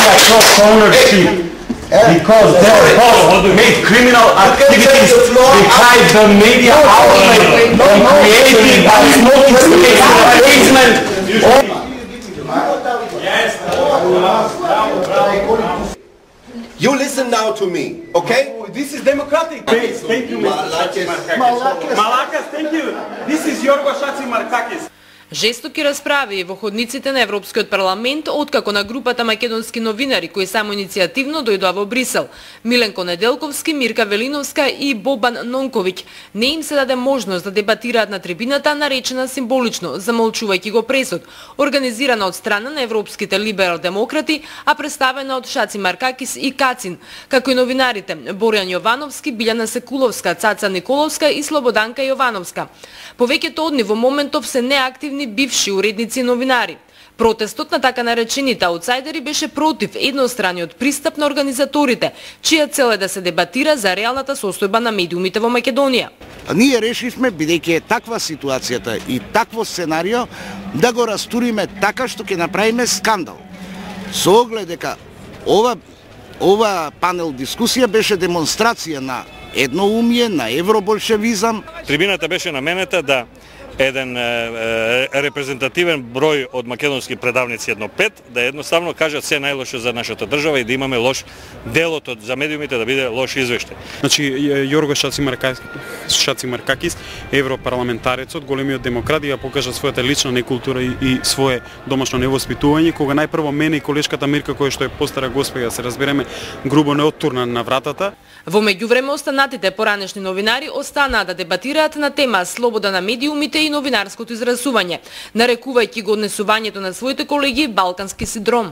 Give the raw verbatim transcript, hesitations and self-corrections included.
media cross-ownership. Because their boss made criminal activities deprive the media outlet from creating a smoking space basement. You listen now to me, okay? Oh, this is democratic. Please, thank you, Mister Chatzimarkakis. Malakas, thank you. This is Yorgo Chatzimarkakis. Жестоки расправи во ходниците на Европскиот парламент откако на групата македонски новинари кои само иницијативно дојдоа во Брисел, Миленко Неделковски, Мирка Велиновска и Бобан Нонковиќ, не им се даде можност да дебатираат на трибината наречена символично, замолчувајќи го пресуд, организирана од страна на европските либерал-демократи, а представена од Шацимаркакис и Кацин, како и новинарите Борјан Јовановски, Билјана Секуловска, Цаца Николовска и Слободанка Јовановска. Повеќето од нив во моментов се неактивни бивши уредници и новинари. Протестот на така наречените аутсайдери беше против едностраниот пристап на организаторите, чија цел е да се дебатира за реалната состојба на медиумите во Македонија. Ние решивме, бидејќи е таква ситуацијата и такво сценарио, да го растуриме така што ќе направиме скандал. Со оглед дека ова, ова панел дискусија беше демонстрација на едноумие, на евроболшевизам. Трибината беше наменета да еден е, е, репрезентативен број од македонски предавници едно пет, да едноставно кажат се најлошо за нашата држава и да имаме лош делот за медиумите да биде лош извештај. Значи Јорго Шацимаркакис, европарламентарецот, големиот демократ, ја покажа својата лична некултура и, и свое домашно невоспитување, кога најпрво мене и колешката Мирка, која што е постара госпоја, се разбереме, грубо не оттурна на вратата. Во меѓувреме останатите поранешни новинари останаа да дебатираат на тема слобода на медиумите и новинарското изразување, нарекувајќи го однесувањето на своите колеги балкански синдром.